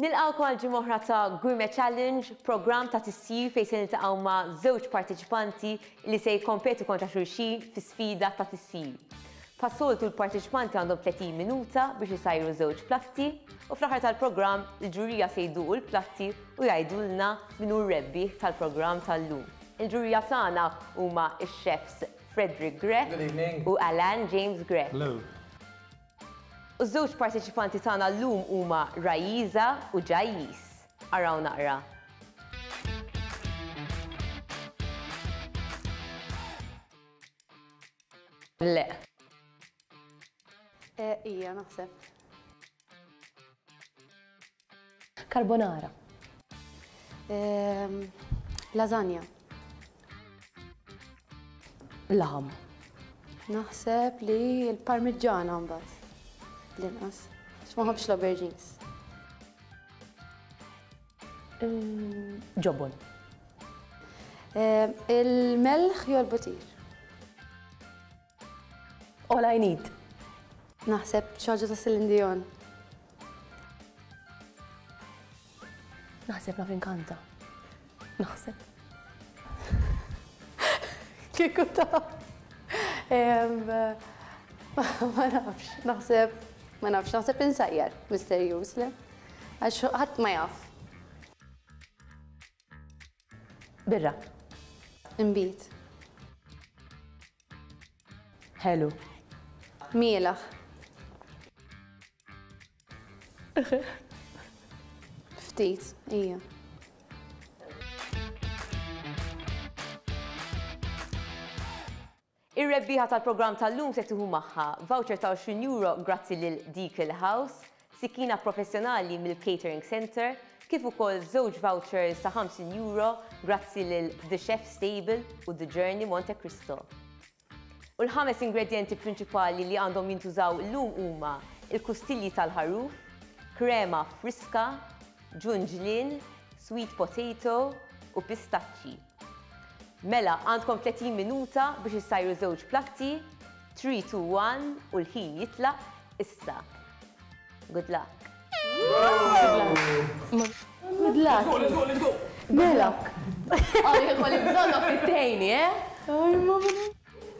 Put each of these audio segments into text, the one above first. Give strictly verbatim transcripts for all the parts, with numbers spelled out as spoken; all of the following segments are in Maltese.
Nilqgħukom għal ġimgħa oħra ta' Gourmet Challenge, programm ta' tisjir fejn se niltaqgħu ma' żewġ parteċipanti li se jikkompetu kontra xulxin fi sfida ta' tisjir. Bħas-soltu l-parteċipanti għandhom tletin minuta biex isajru żewġ platti u fl-aħħar tal-programm il-ġurija se jduqu l-platti u jgħidulna min hu r-rebbieħ tal-programm tal-lum. Il-ġurija tagħna huma x-chefs Frederick Grech Good evening. U Alan James Grech. Hello. U żewġ parteċipanti tagħna llum huma Rajiza u Ġajjis. Araw naqra. Le. Eh, ija, naħseb. Carbonara. Ehm, lasagna. Laħam. Naħseb li l-parmigiana mbagħad. L-inqas. Għax ma nħobbx l-aubergines. Ehm, ġobon. Ehm, il-melħ jew l-butir? All I need. Naħseb xi ħaġa ta' Celine Dion. Naħseb naf inkanta. Naħseb. Kieku ta' Ehm, ma nafx, naħseb, ma nafx, naħseb insajjar, misterjuż, le? Għax ħadd ma jaf. Birra. Inbid. Ħelu. Mielaħ. Ftit, ija. Ir-rebbieħa tal-programm tal-lum se tieħu magħha voucher ta' għoxrin euro grazzi lil Deacle House, sikkina professjonali mill-Catering Center, kif ukoll żewġ vouchers ta' ħamsin euro grazzi lil The Chef Stable u The Journey Monte Cristo. U l-ħames ingredienti prinċipali li għandhom jintużaw llum huma il-kustilji tal-ħaruf, krema friska, ġunġlien, sweet potato u pistaċċi. Mela, għandkom tletin minuta biex issajru żewġ platti, three, two, one u l-ħin jitlaq issa. Good luck. Good luck. Let's go, let's go. Mela. Għalli kolli bżonnok it-tejni, eh?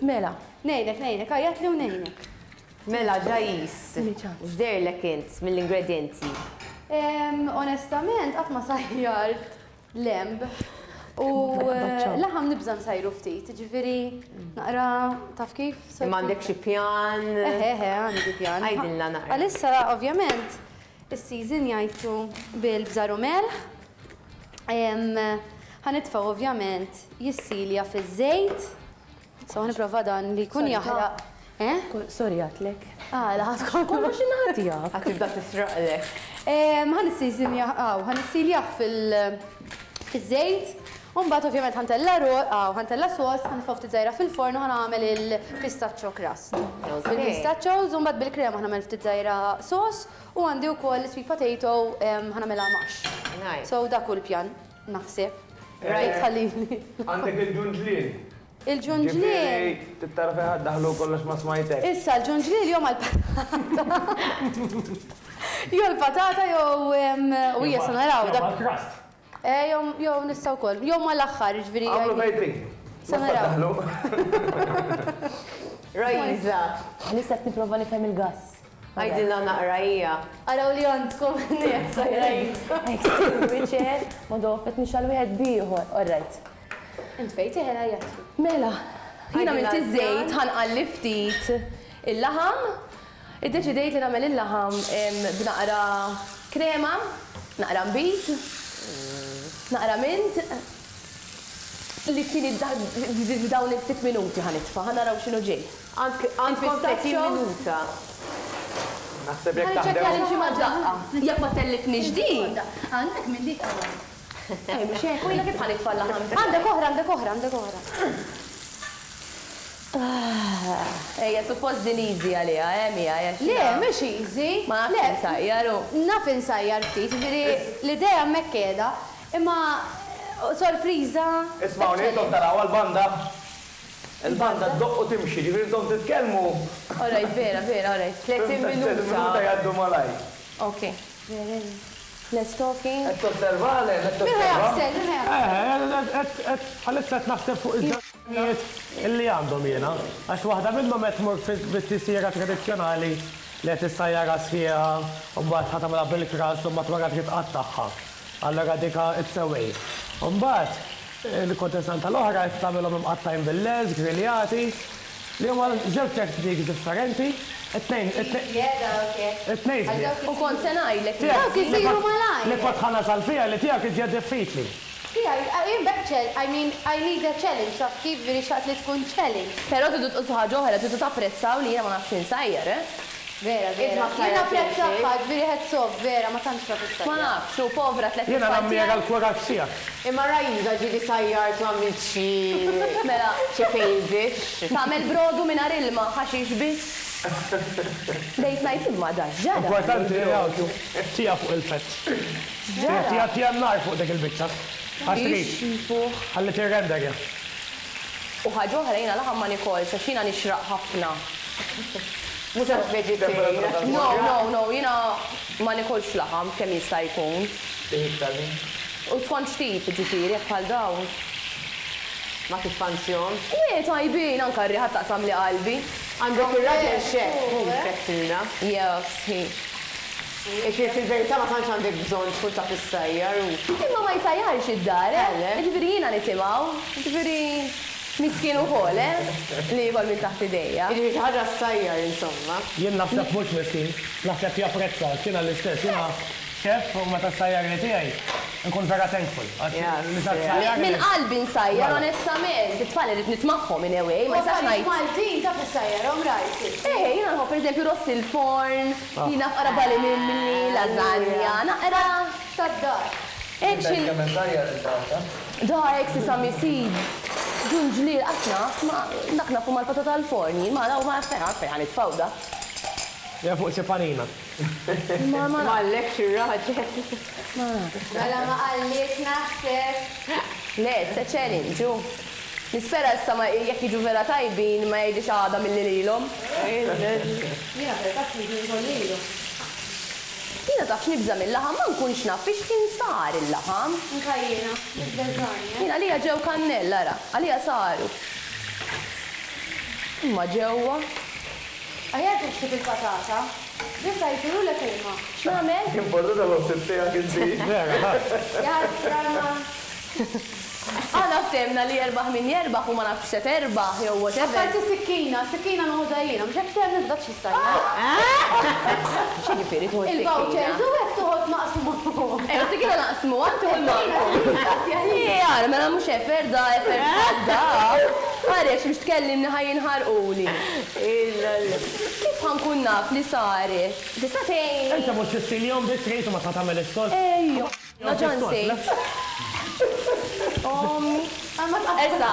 Mela. Nejnek, nejnek, għajat li u nejnek. Mela, Ġajis, Tini ċans. x'derlek int mill-ingredienti? Em, onestament, qatt ma sajjart lemb. U, Baċċaw. eh, laħam nibża' nsajru ftit, ġifieri naqra taf kif? Imma għandek xi pjan? Eħe, eħe, għandi pjan. Għidilna naqra. Għalissa, ovvjament, is-season jgħidu bil-bżar u melħ. Em, ħanitfgħu ovvjament jissilja fiż-żejt. So ħaniprova dan li jkun Sorry, jaħraq. Eh? Kol-, sorry għatlek. Ah, la ħadd kollox. Kollox ingħatijak. Ħa tibda tisraqlek. Em, ħa nisseasonja, aw, ħa nissiljah fil-, fiż-żejt. U mbagħad ovvjament ħantella ro-, aw, ħantella sos, ħanitfgħu ftit żgħira fil-forn u ħanagħmel il-pistachio crust. Ok. Bil-pistachios u mbagħad bil-krema ħanagħmel ftit żgħira sos u għandi wkoll sweet potato, em, ħanagħmilha mash. Nice. So dak hu l-pjan, naħseb. Right. Ħallini. Għandek il-ġunġlien. Il-ġunġlien. Ġifieri, tittara fejn ħadd daħlu kollox ma smajtek. Issa l-ġunġlien jew mal-patata. Jew l-patata jew, em, u hija se naraw Jew dak. mal-crust. Eh, jew, jew nistgħu wkoll, jew mal-aħħar, ġifieri Għamlu jgħidu. fejn trid. Se naraw. Daħlu. Rajza. Nista' qed nipprova nifhem il-gass. Għidilna naqra hija. Araw li għandkom nies. Extinguisher, ma dofet nixal wieħed bieħor. All right. Int fejn teħel għajjatli. Mela, jiena Għidilna għamilt iż-żejt, l-pjan. ħanqalli ftit il-laħam. Iddeċidejt li nagħmel il-laħam, em, b'naqra krema, naqra nbid, naqra mint, li tieni dawn il-ftit minuti ħanitfa', ħanaraw x'inhu ġej. Għandkom tletin Pistachios. minuta. Naħseb jekk Ħa niċċekkja taħdem. li xi Daqqa. Jekk ma tellifniex din. Għandek minn dik qabel. Eh, mhux hekk, u jiena kif ħanitfa' l-laħam? Għandek oħra, għandek oħra, għandek oħra. Ejja, suppost din easy għaliha, eh, Mia, hija xi Le, ħaġa. mhux easy. Ma nafx Le, insajjar, u. Naf insajjar ftit, ġifieri l-idea hemmhekk qiegħda, imma sorpriża. Ismawni, intom taraw għall-banda. Il-banda ddoqq u timxi, ġifieri intom titkellmu. All right, vera, vera, all right. Tletin Tletin minuta. minuta jgħaddu malaj. Ok. Less talking. Qed tosserva, le, qed tosserva. Eh, għalissa qed naħseb fuq iż-żewġ illi għandhom jiena. Għax waħda minnhom qed tmur bit-tisjira tradizzjonali li qed issajjara sħiħa u mbagħad ħa tagħmilha bil-kras u mbagħad wara trid tqattagħha. Allura dika it's a way. U mbagħad il-kontestant tal-oħra qed tagħmilhom imqattgħin bil-leż, griljati, li huma żewġ techniques differenti. It-tnejn, it-tnejn. U kont se ngħidlek. Dawk isiru malajr. Li kont ħa nasal fiha li tiegħek iżjed diffiċli. Jien back challenge, I mean, I need a challenge, taf kif veri xaqt li tkun challenge. Però tridu tqosu ħaġa oħra, tridu tapprezzaw li jiena ma nafx insajjar, eh? Vera, vera. Jien napprezza ħadd, veri heads off, vera, ma tantx taf issajjar. Ma nafx, u povra tliet Jiena nammira l-kuraġġ tiegħek. Imma Rajza ġieli sajjart u għamilt xi Mela. xi fail dish. Tagħmel brodu mingħajr ilma, ħaxix biss. Bdejt ngħid imma da ġara. Importanti li tija fuq il-fett. Tija tija n-nar fuq dik il-biċċa. Għax trid. Ħalli tirrender. U ħaġa oħra jiena laħam ma nikolx għax jiena nixraq ħafna. Mhux għax vegetarian. No, no, no, jiena ma nikolx laħam kemm jista' jkun. U skont x'tip, ġifieri, jekk bħal dawn. Ma tiffanzjon. Le, tajbin, anke r-riħa taqsam li qalbi. Għandek ir-raġel xef, mhux fettilna. Yes, hi. Ixi fil-verità ma tantx għandek bżonn tkun taf issajjar u. Imma ma jsajjarx id-dar, eh? Ġifieri jiena nitimgħu, ġifieri miskin ukoll, eh? Li jkoll minn taħt idejja. Jiġifieri xi ħaġa ssajjar insomma. Jien naħseb mhux miskin, naħseb japprezza, jiena l-istess, jiena xef u meta ssajjar li tiegħi nkun vera thankful. Minn qalbi nsajjar, onestament, it-tfal irid nitmagħhom in a way, ma jistax ngħid. Maltin taf issajjarhom rajt. Eh, jiena nħobb pereżempju ross il-forn, jiena fqara bali mimli, lasagna, naqra. Tad-dar. Hekk xi. Da hekk sesame seeds. Ġunġliel qatt naf, ma dak nafu mal-patata al-forn, jien ma ma fejn fejn ħanitfgħu da. Ja fuq xi panina. Ma ma Mallek xi raġel. Mela ma qalliek naħseb. Le, it's a challenge, u. Nispera issa ma jekk jiġu vera tajbin ma jgħidix għada milli lilhom. Jiena vera taf li jkun lilu. Jiena taf nibża' mill-laħam ma nkunx naf fiex kien sar il-laħam. Anka jiena, nibżani. Jiena għalija ġew kannella ara, għalija saru. Imma ġewwa. Aħjar tixtib il-patata. Nista' jsiru lek huma. X'nagħmel? Importanti l-ħsieb tiegħek inti. Vera, ha. Jasra ma. Aħna ftemna li jerbaħ min jerbaħ u ma nafx se terbaħ jew whatever. Apparti sikkina, sikkina noħodha jiena, mhux hekk temm nibda xi sajja. X'jiġifieri tieħu s-sikkina? Il-vouchers u hekk toħod naqsmu. Eh, sikkina naqsmu, għad tieħu l-manku. Ija, mela mhux efer da, efer da. Għaliex biex tkellimni ħaj jinħarquli. Kif ħankun naf li saret? Tista' tgħinni? Inta mhux tistiljhom biss trid u ma ta' tagħmel is-sos. Ejja. Ma ġan sejt. Ommi. Issa.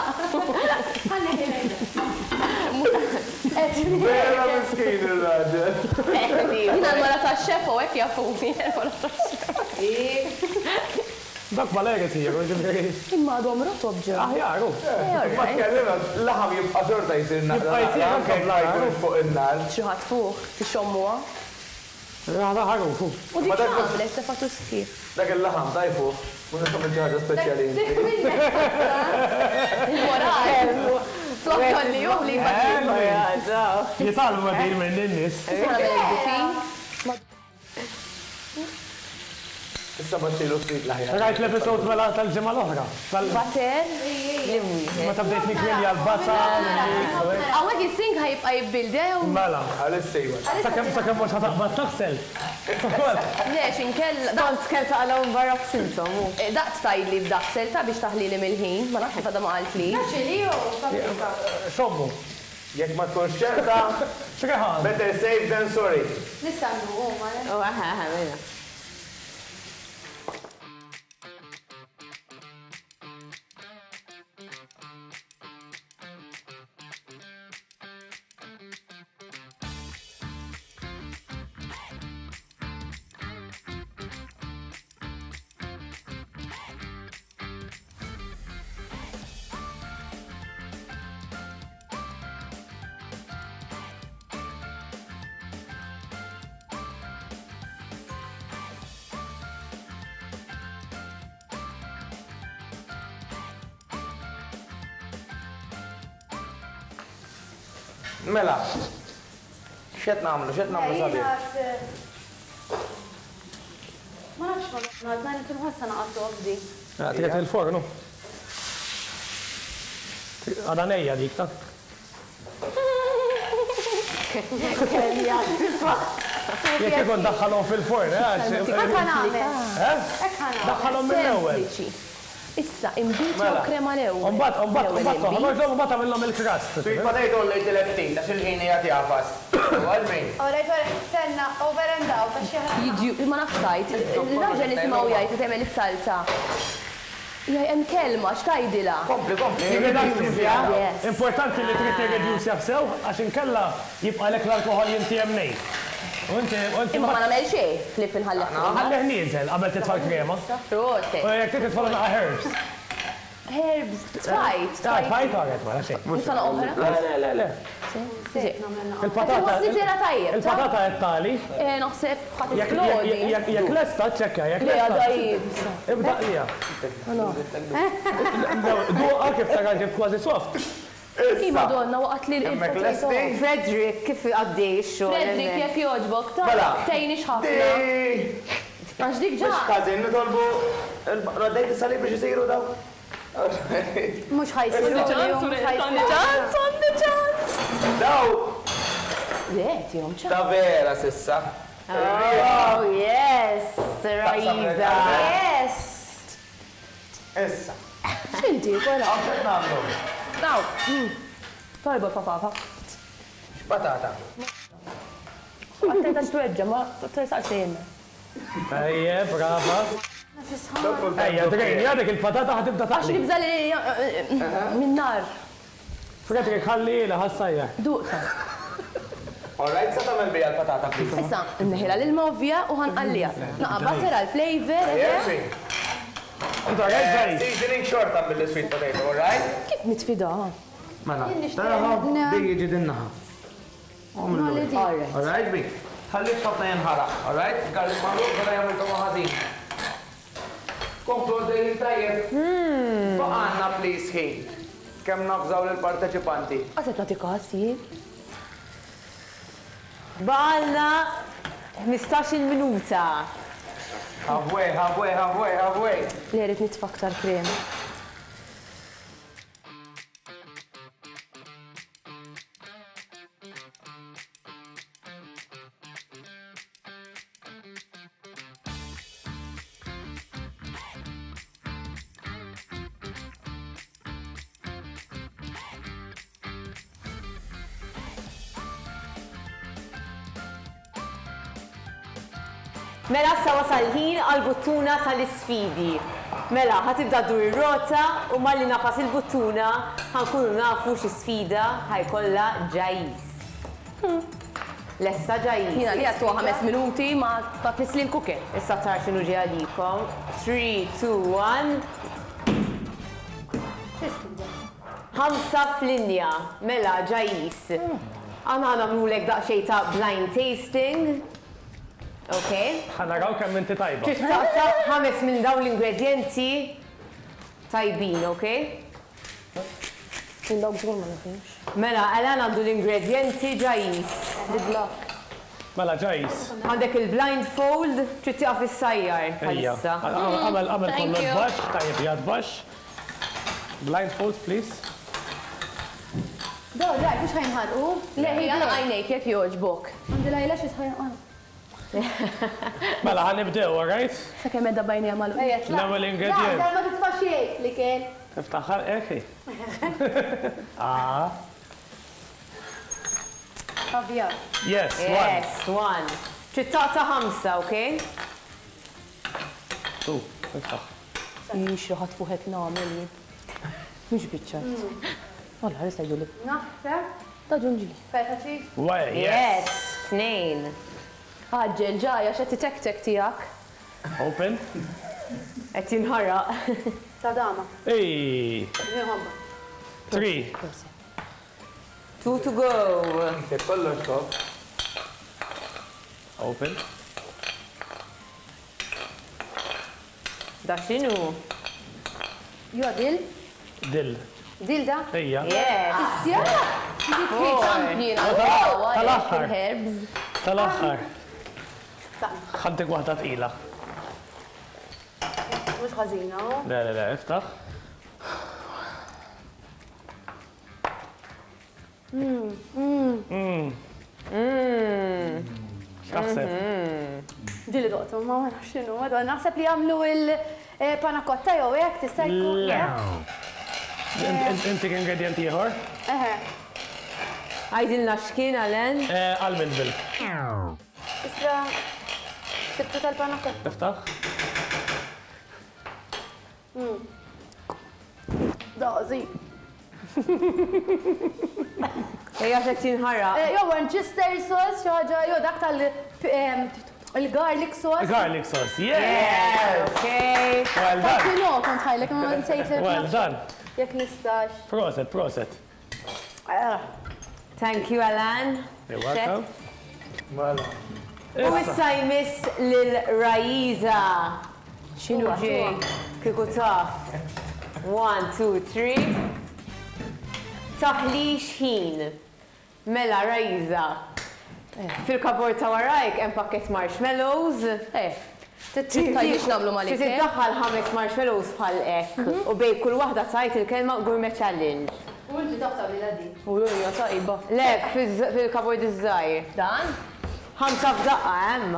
Vera miskin ir-raġel. Jiena l-mara tax-xef u hekk jafuni, l-mara tax-xef. Dak malajr isiru, ġifieri. Imma għadhom rotob ġew. Aħjar, hu. Ma tkellimna, laħam jibqa' xorta jsir naqra. Jibqa' jsir anke anke ma jkunx fuq in-nar. Xi ħadd fuq, tixommuha. Raħda ħaruf. U dik x'għamlet tefgħatu sħiħ. Dak il-laħam tajfu, mhux nagħmel xi ħaġa speċjali inti. Il-moral. Flokjon li hu li jbagħti. Jitalmu din minn in-nies. Issa baxxilu ftit l-aħjar. Rajt l-episod mela tal-ġimgħa l-oħra. Bater. Meta bdejt nikrilja l-basal. Hawnhekk is-sink ħajibqa' jibbildi jew? Mela. Għalissa iva. Sakemm sakemm mhux ħataqbad taħsel. Le, x'inkella. Kont kemm taqalgħu barra f'sintom. Daqt tajli b'daħsel ta' biex taħlili mill-ħin, ma nafx għadha ma qaltli. Naċili jew paprika. Sommu. Jekk ma tkunx ċerta, X'reħan? better safe than sorry. Nista' nduqu ma. Oh, aha, aha, mela. Mela, x'qed nagħmlu, x'qed nagħmlu sabiħ? Ma nafx ma nagħmlu, għadna nħossha naqas di. Trid il-fornu. Għadha nejja dik ta'. Jekk ikun daħħalhom fil-forn, eh? Hekk nagħmel. Daħħalhom mill-ewwel. Issa, imbit jew krema l-ewwel. Imbagħad, imbagħad, imbagħad toħroġhom, imbagħad tagħmilhom il-crust. Sweet potato lejt il-ftit, għax il-ħin qiegħed jagħfas. Għal-min? Alright, tenna, over and out, għax jaħraq. Jiġi, ma nafx tajt, il-raġel nisimgħu jgħid li tagħmel is-salsa. Jaj, hemm kelma, x'tajdilha? Kompli, kompli. Importanti li trid tirreduce sew għax inkella jibqalek l-alkoħol jintiem nej. Imma ma nagħmel xejn li finħalleh. Ħalleh nieżel qabel titfa' l-krema. Proset. U jekk trid titfa' naqa' herbs. Herbs, tfajt. Tfajt għaret wara xejn. Nitfa' oħra? Le, le, le, le. Il-patata. Tajjeb. Il-patata qed tali. Naħseb ħadd esplodi. Jekk lesta ċċekkja, jekk lesta. Le għadha Ibda qlija. Duqa kif tara kif kważi soft. I Madonna, waqt li l-lesti. Frederick, kif għaddej ix-xogħol? Frederick, jekk jogħġbok, ta' tgħinix ħafna. Għax dik ġa. Mhux ħażin nitolbu raddejt is-salib biex isiru daw. Mhux ħajsiru. Għandi ċans, għandi ċans. Daw. Le, tihom ċans. Ta' vera sissa. Oh, yes, Raiza. Yes. Issa. X'inti, kolla? Għax nagħmlu. Daw. Tajba patata. X'patata? Attenta x'tweġġa, ma tersaqx xejn. Ejja, brava. Ejja, drejn, dik il-patata ħa tibda Għax taqli. nibża li minn nar. Frederick, ħalli la ħassajja. Duqta. All right, sa tagħmel bija l-patata, please. Issa, nneħilha l-ilma ovvja u ħanqalliha. Naqa' butter għal-flavor. Inta rajt ġej. Seasoning xorta mill-sweet potato, all right? Kif nitfida? Mela, taraħa, di jiġi din naħa. All right, bi. Ħalli ħafna jinħaraq, all right? Garlic magħluq, bada jagħmel togħma ħażin. Komplu għaddejjin tajjeb. Baqgħanna please ħin. Kemm nafżaw lill-parteċipanti. Qaset nagħti każ jien. Baqgħalna ħmistax-il minuta. Halfway, halfway, halfway, halfway. Li rrid nitfa' aktar krema. Mela sa wasal ħin għal-buttuna tal-isfidi. Mela, ħatibda ddur ir-rota u malli nafas il-buttuna ħankunu nafu xi sfida ħajkollha Ġajis. Lesta Ġajis. Jiena li għattu ħames minuti ma ta' tnisli l-kuker. Issa tara x'inhu ġej għalikom. three, two, one. Ħamsa f'linja. Mela Ġajis. Aħna nagħmlulek daqsxejn ta' blind tasting. Ok. Ħa naraw kemm inti tajba. Trid taqta' ħames minn dawn l-ingredienti tajbin, ok? Minn dawk żgur ma nafux. Mela, Alan għandu l-ingredienti Ġajis. Good luck. Mela Ġajis. Għandek il-blindfold, trid tieqaf issajjar Ejja. bħalissa. Għamel għamel Thank kollox you. baxx, tajjeb jgħad baxx. Blindfold, please. Do, daj, mhux ħajnħarqu. Le, ħija għajnejk jekk jogħġbok. Għandi l-eyelashes ħajnħarqu. Mela, ħa nibdew, all right? Sakemm edha bajnija magħluq. Ejja, tlaq. L-ewwel ingredient. La, ma titfa' xejn li kien. Tiftaħ ħalqek. Ah. Abjad. Yes, one. Yes, one. Trid taqta' ħamsa, ok? Two, iftaħ. Ix, ħadd fuħet nagħmel jien. Mhux biċċa. Alla, ħares tgħidu li. Naħseb. Ta' ġunġli. Feta cheese. Way, yes. Yes, tnejn. Għaġġel ġajja x'qed titektek tiegħek. Open. Qed jinħaraq. Ta' dama. Ej, Nħobba. three. Two to go. Kollox top. Open. Da x'inhu? Jo, dil. Dill. Dil da. Ejja. Yes. Isja. Dik Tal-aħħar. Herbs. Tal-aħħar. Ħantik waħda tqila. Mhux ħażina. Le, le, le, iftaħ. Mmm. Mmm. X'taħseb? Ġieli doqtu, ma nafx x'inhu, madonna, naħseb li jagħmlu il-panacotta jew hekk tista' jkun. Le. Intik ingredient ieħor? Eħe. Għidilna x'kien, Alan? Almond milk. Isra, sibtu tal-panacotta. Iftaħ. Dażi. Ejja xed tinħaraq. Jew Worcester sauce, xi ħaġa, jew dak tal il-garlic sauce. Garlic sauce, yeah! Okay. Well done. Kino kont ħajlek ma nsejt Well done. Jekk nistax. Proset, proset. Thank you, Alan. You're welcome. Mela. U issa jmiss lil Raiza. X'inhu ġej? Kieku taf. One, two, three. Taħlix ħin. Mela, Raiza. Fil-kabord ta' warajk hemm pakket marshmallows. Eh, tgħidix nagħmlu mal-ikel. Trid iddaħħal ħames marshmallows bħal hekk u bejn kull waħda tgħid il-kelma gourmet challenge. U inti taf tagħmilha din. U hija tajba. Le, fil-kabord iż-żgħir. Dan? Ħamsa f'daqqa hemm.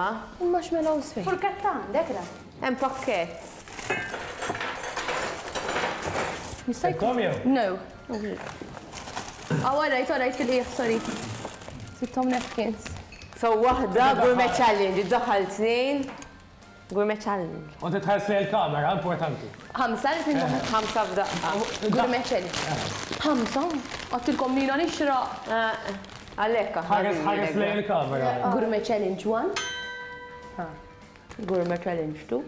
Marshmallows fejn? Furketta għandek da. Hemm pakkett. Jista' jkun? Kom jew? No. Ah, all right, all right, fil-qiegħ, sorry. Sittom napkins. So waħda gourmet challenge, iddaħħal tnejn. Gourmet challenge. U titħares lejn il-kamera, importanti. Ħamsa, li tnejn Ħamsa f'daqqa. Gourmet challenge. Ħamsa? Għattilkom nina nixraq. Għalhekk aħna. Ħares ħares lejn il-kamera. Gourmet challenge one. Gourmet challenge two.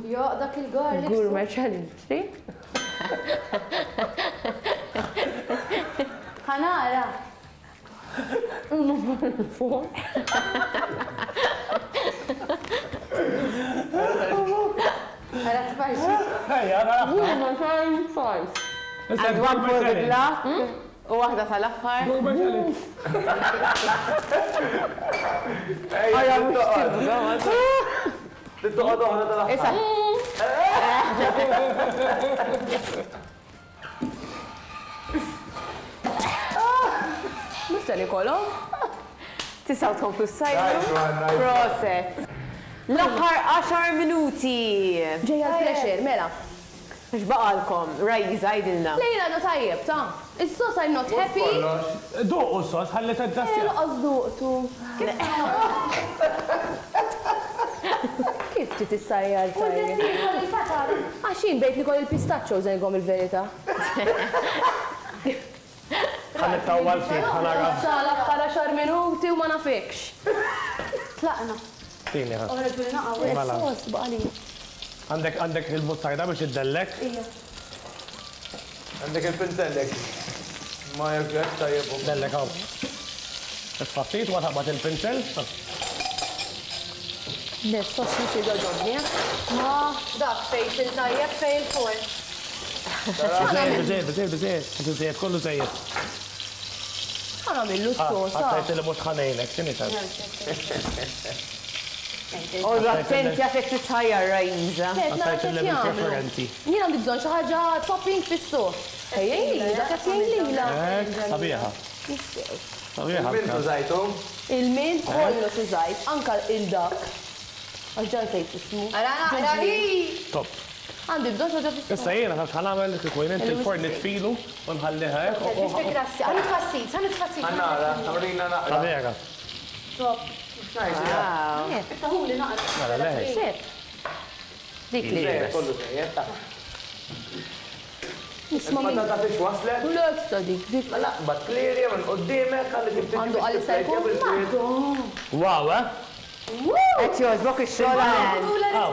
Jo, dak il-garlic. Gourmet challenge three. Ħanara. Four. Ħara tfaxxi. Ejja, nara. Gourmet challenge five. And one for good luck. U waħda tal-aħħar. Gourmet challenge. Ejja, toqgħod. Tittoqgħod oħra tal-aħħar. Issa, Mista nikolhom? tistgħu tkomplu s-sajru. Nice one, nice one. Proset. L-aħħar għaxar minuti. Ġejja l-pressure, mela. X'baqalkom? Raiza, għidilna. Lejla għadu tajjeb, ta' Is-sos I'm not happy. Kollox. Duq u sos, ħalli Eh, taddassja. Laqas duqtu. Kif ti tissajjar tajjeb? Għax jien bejt nikol il-pistachio żejgom il-verità. Ħalli tawwal ftit, ħanara. Issa l-aħħar għaxar minuti u ma nafikx. Tlaqna. Tini ħa. Oħra ġuli naqgħu. Mela. Sos baqali. Għandek għandek il-muttarda biex iddellek. Ija. Għandek il-pinzellek. Ma jekk tajjeb. Dellek hawn. Itfa' ftit wa taqbad il-pinzel. Le, sos mhux jogħġobni. Ma dak fejn il-tajjeb fejn il-fuq. Biżejjed, biżejjed, biżejjed, biżejjed, biżejjed, kollu żejjed. Ħa nagħmillu s-sos. Għattajt li mhux ħanejnek, x'inhi tan? Oqgħodu attenti għax qed titħajjar Raiza. Għattajt li bil-preferenzi. Jien għandi bżonn xi ħaġa topping fis-sos. Ejja, dak qed jgħin lilha. Hekk, sabiħa. Sabiħa. Il-mint użajtu? Il-mint kollox użajt, anka il-dak. Għax ġan sejt ismu. Ara naqra li. Top. Għandi bżonn xi ħaġa fis-sos. Issa jiena taf x'ħa nagħmel kieku jien inti l-forn nitfilu u nħalliha hekk. Biex tikrassi, ħa nitfassit, ħa nitfassit. Ħanara, għamrina naqra. Sabiħa. Top. Wow. Iftahuli naqra. Mela, le. Seb. Dik li. Żejjed, kollu żejjed, ta' Nisma' min. Il-patata fiex waslet? Lesta dik, dik. Mela, bat klirja minn qudiemek, ħalli tiftit Għandu għalli se jkun. Wow, eh? Qed jogħġbok ix-xogħol Alan. Aw,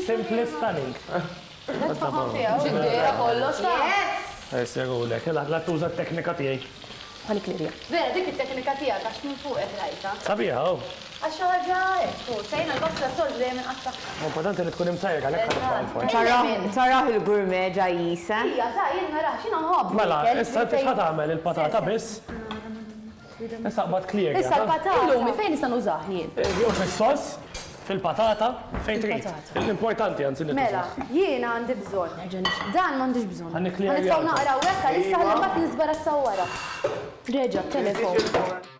simply stunning. Ġiddera kollox ta' Yes! Ejsirulek, la tuża t-teknika tiegħi. Ħa nikklirja. Vera, dik it-teknika tiegħek għax minn fuq qed rajta. Sabiħa, oh. Għax xi ħaġa hekk, sejna l-basla sol dejjem inqattagħha. Importanti li tkun imsajra għalhekk ħa titfa' l-forn. Taraħ il-gourmet ġajjisa. Ija, ta' jien narax, jiena nħobb. Mela, issa inti x'ħa tagħmel il-patata biss? Issa qbad clear. Issa l-patata. Illum fejn nista' nużah jien? Jew fis-sos, fil-patata, fejn trid. L-importanti anzi li Mela, jiena għandi bżonn. Dan m'għandix bżonn. Ħa nikklirja. Ħa nitfgħu naqra hekk għalissa ħalli mbagħad nisbarazzaw wara. Reġa' telefon.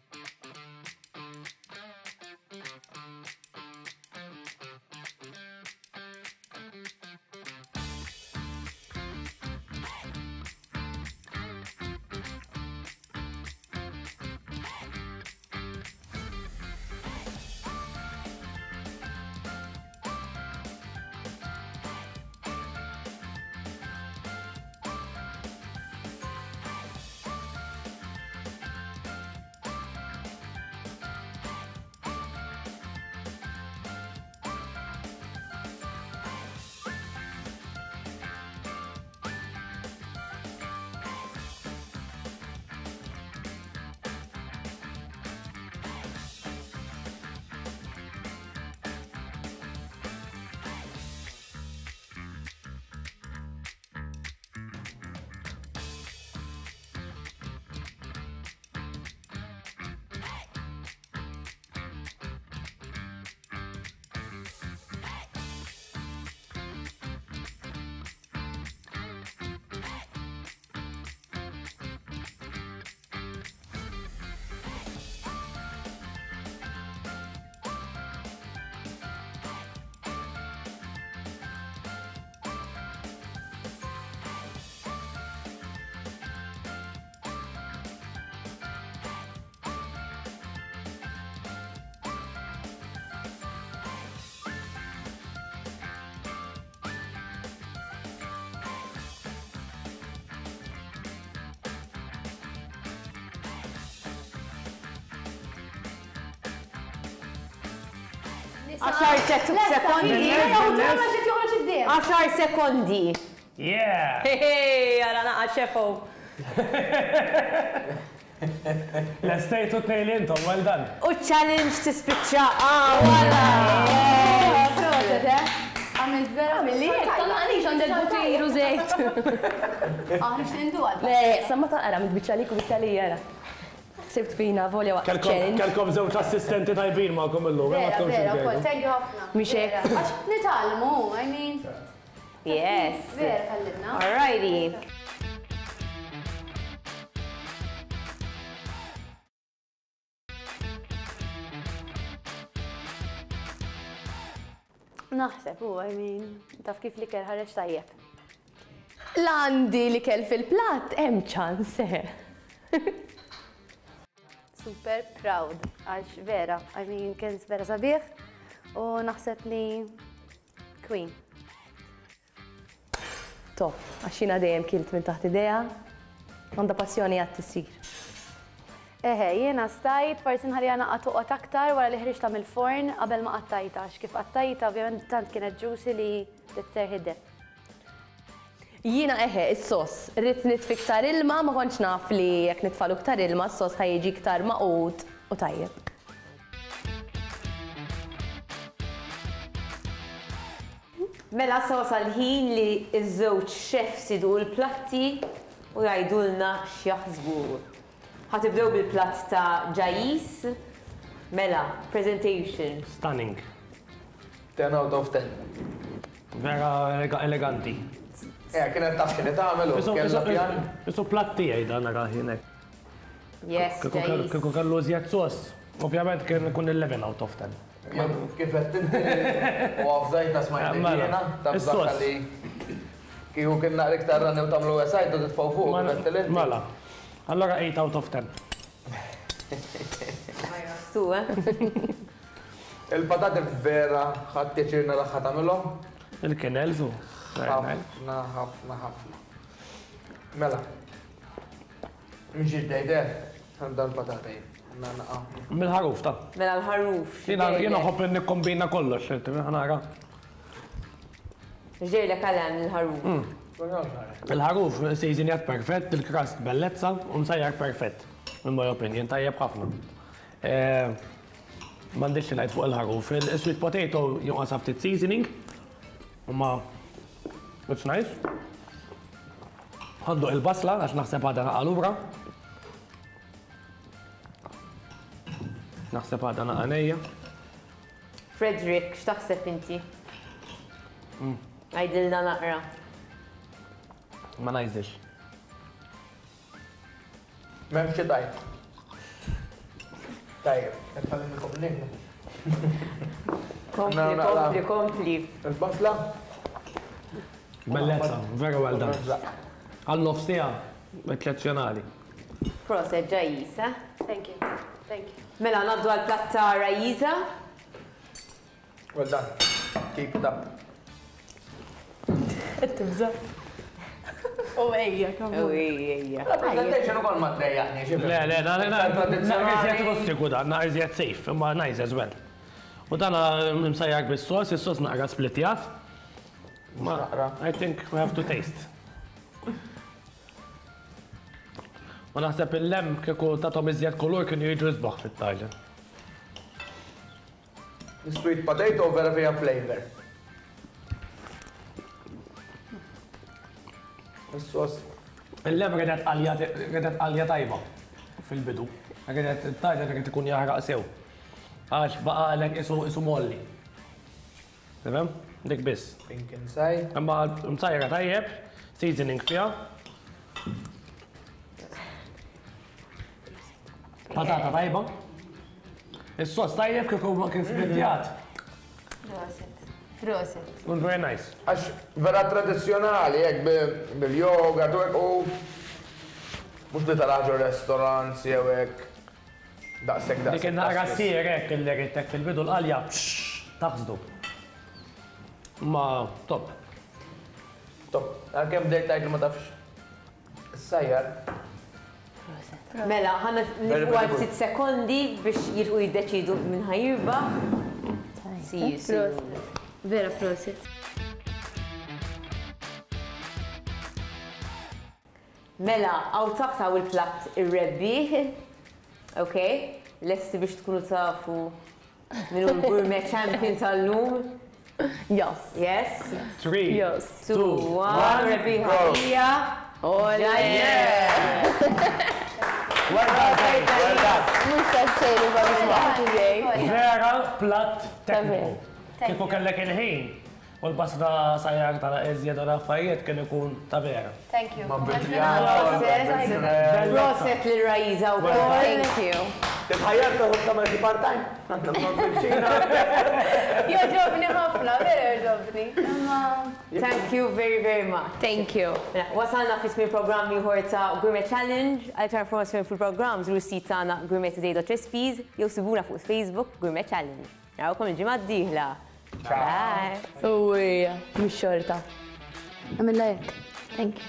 Għaxar sekondi. Għaxar sekondi. Yeah! Hey, għara naqa xefo. L-estejtu tnejn li intom, well done. U challenge tispiċċa. Ah, wala. Proset, eh? Għamilt vera. Għamilli, tal-għalix għandek butiru zejt. Ah, nixtieq indu għal. Le, samma taqra, mid-biċċa lik u biċċa li jara. Sibt fina, volja waqt challenge. Kelkom żewġ assistenti tajbin magħkom illum, ma Vera, tkunx vera, ukoll, inkejlu. thank you ħafna. Mhix hekk. Vera, Għax nitgħallmu, I mean. Yes. Vera, tgħallimna. Alrighty. Naħseb, u, I mean, taf kif li kell ħareġ tajjeb. L-għandi li kell fil-platt, hemm ċans, eh. Super proud, għax vera, I mean, kien vera sabiħ u naħseb li queen. Top, għax jiena dejjem kilt minn taħt idea, għandha passjoni għad tisir. Eħe, jiena stajt, forsi nħalli naqqa toqgħod aktar wara li ħriġtha mill-forn qabel ma qattajtha, għax kif qattajtha ovvjament tant kienet juicy li titserħi. Jiena eħe, is-sos, rrid nitfi iktar ilma, ma kontx naf li jekk nitfalu iktar ilma, s-sos ħa jiġi iktar maqud u tajjeb. Mela sa wasal ħin li ż-żewġ chefs idu l-platti u jgħidulna x'jaħsbu. Ħa tibdew bil-platt ta' Ġajis. Mela, presentation. Stunning. ten out of ten. Vera elega-, eleganti. Eh, kienet taf x'inhi tagħmel u Isu- kellha isu- pjan. Isu platt tiegħi dan nara ħinek. Yes, Kieku kellu- Ġajis. Kieku kellu iżjed sos, ovvjament kien ikun eleven out of ten. Jew kif qed inti u għafżajta smajt Mela, jiena, taf is-sos. zakka li kieku kien naqra iktar rani u tagħmlu esajt u titfgħu fuq, Mela, kif qed inti. Mela. Allora eight out of ten. Tu, eh? Il-patati vera ħadd pjaċir naraħħa tagħmilhom. Il-kinels u. Ħafna, ħafna, ħafna. Mela. Mhix ġdejder, għandha l-patata jien. Naqa. Mill-ħaruf ta' Mela l-ħaruf. Jiena jiena nħobb li nikkombina kollox, ħanara. Ġejlek għalem il-ħaruf. Il-ħaruf seasonjat perfett, il-crust bellezza u msajjar perfett. In my opinion, tajjeb ħafna. M'għandix xi ngħid fuq il-ħaruf. Il-sweet potato jonqos ftit seasoning. Imma it's nice. Ħa nduq il-basla għax naħseb għadha naqa' lura. Naħseb għadha naqa' nejja. Frederick, x'taħseb inti? Għidilna naqra. Ma ngħidx. M'hemmx xi tajb. Tajjeb, qed tgħallimilkom lilna. Kompli, kompli, kompli. Il-basla? Bellezza, very well done. Għal nofs siegħa, eċċezzjonali. Proset, Raisa. Thank you. Thank you. Mela, ngħaddu għal platt ta' Raisa. Well done. Keep it up. Qed tibża'. U ejja, come U on. ejja. La presentation ukoll ma trejjaqni, xi Le, le, naqra iżjed rustiku dan, naqra iżjed safe, imma nice as well. U dan msajjar bis-sos, is-sos naqra splitjat. Ma, Naqra. I think we have to taste. U naħseb il-lamb kieku tatom iżjed kulur kienu jiġu isbaħ fit-tajġen. Sweet potato vera fija flavor. Is-sos. Il-lamb redet qalja redet qalja tajba fil-bidu. Redet it-tajġen redet ikun jaħraq sew. Għax baqalek isu isu molli. Tifhem? Dik biss. Pink inside. Imma msajra tajjeb, seasoning fiha. Patata tajba. Is-sos tajjeb kieku ma kien splitjat. Proset. Proset. Un very nice. Għax vera tradizzjonali, hekk bil-yogurt u hekk u mhux li taraħ ġo restaurants jew hekk. Daqshekk Dik daqshekk. in-naqra daqshekk. sir hekk illi ridtek fil-bidu l-qalja taħsdu. Ma top. Top. Għalkemm bdejt tgħid li ma tafx. Is-sajjar. Mela, ħa Very, nieqfu very għal good. ftit sekondi biex jilħqu jiddeċidu minn ħa jirbaħ. See you soon. Proset. Vera proset. Mela, hawn taħt hawn il-platt ir-rebbieħ. Ok? Lesti biex tkunu tafu min hu l-gourmet champion tal-lum. Yes. Yes? Three, Yes. Two, two, one, one, rebbieħa go. hija. Ole! Well done, well done. Mhux taċċejlu babbi. Vera platt tekniku. Thank Kieku kellek il-ħin u l-basla sajjar tal iżjed u l-affarijiet kien ikun ta' vera. Thank you. Ma Proset. Proset lil Raisa wkoll. Thank you. Titħajjar taħu tagħmel xi part-time? Għandna bżonn fil-ċina. Joġobni ħafna, vera joġobni. Imma Thank you very, very much. Thank you. Mela, wasalna fi tmiem programm ieħor ta' Gourmet Challenge. Għal iktar informazzjoni fil-programm żuru s-sit tagħna gourmettoday dot recipes jew sibuna fuq Facebook Gourmet Challenge. Narawkom il-ġimgħa d-dieħla. Bye. Uwija, mhux xorta. Għamilla hekk. Thank you.